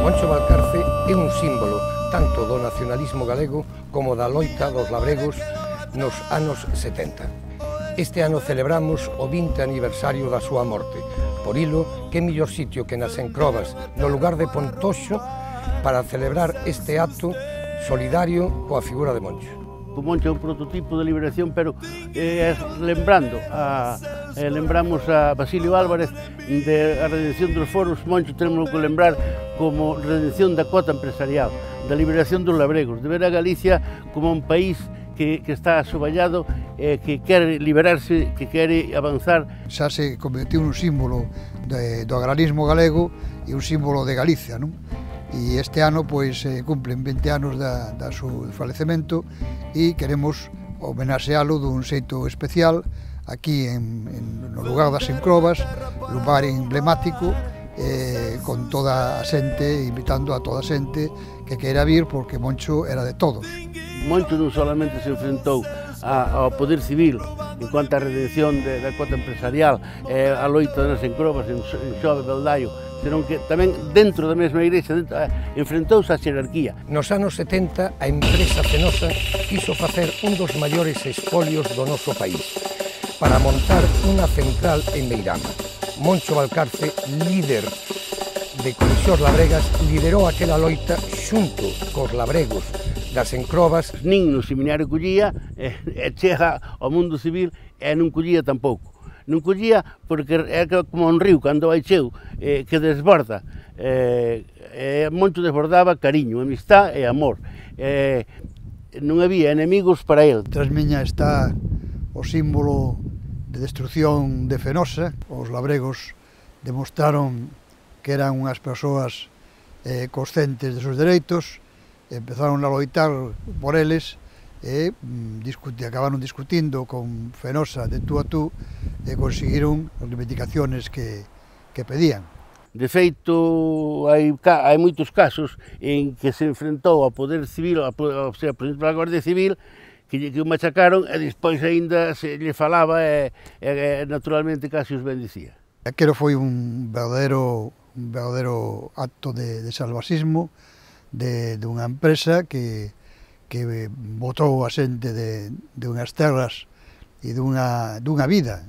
Moncho Valcarce é un símbolo tanto do nacionalismo galego como da loita dos labregos nos anos 70. Este ano celebramos o 20 aniversario da súa morte. Por ilo, que mellor sitio que nas Encrobas, no lugar de Pontoxo, para celebrar este acto solidario coa figura de Moncho. O Moncho é un prototipo de liberación, pero lembramos a Basilio Álvarez de a redención dos foros. Moncho tenemos que lembrar como redención da cota empresarial, da liberación dos labregos, de ver a Galicia como un país que está asoballado, que quere liberarse, que quere avanzar. Xa se convertiu nun símbolo do agrarismo galego e un símbolo de Galicia, non? E este ano pois cumplen 20 anos do seu falecemento e queremos homenaxealo dun xeito especial aquí no lugar das Encrobas, lugar emblemático, con toda a xente, invitando a toda a xente que queira vir, porque Moncho era de todos. Moncho non solamente se enfrentou ao poder civil en cuanto á redención da cota empresarial, a loita das Encrobas en Xove Beldaio, senón que tamén dentro da mesma igrexa enfrentouse á xerarquía. Nos anos 70 a empresa Fenosa quiso facer un dos maiores espolios do noso país para montar unha central en Meirama. Moncho Valcarce, líder de Comisións Labregas, liderou aquela loita xunto cos labregos das Encrobas. Nin no seminario collía, chega ao mundo civil e non collía tampouco. Non collía porque é como un río cando vai cheo, que desborda. Moncho desbordaba cariño, amistad e amor. Non había enemigos para el. Tras miña está o símbolo de destrucción de Fenosa. Os labregos demostraron que eran unhas persoas conscientes de seus dereitos, empezaron a loitar por eles e acabaron discutindo con Fenosa de tú a tú e conseguiron as reivindicaciones que pedían. De feito, hai moitos casos en que se enfrentou ao poder civil, ao ser a Guardia Civil, que o machacaron e despois aínda se lle falaba e naturalmente casi os bendicía. Aquelo foi un verdadeiro acto de salvasismo dunha empresa que botou a xente de unhas terras e dunha vida.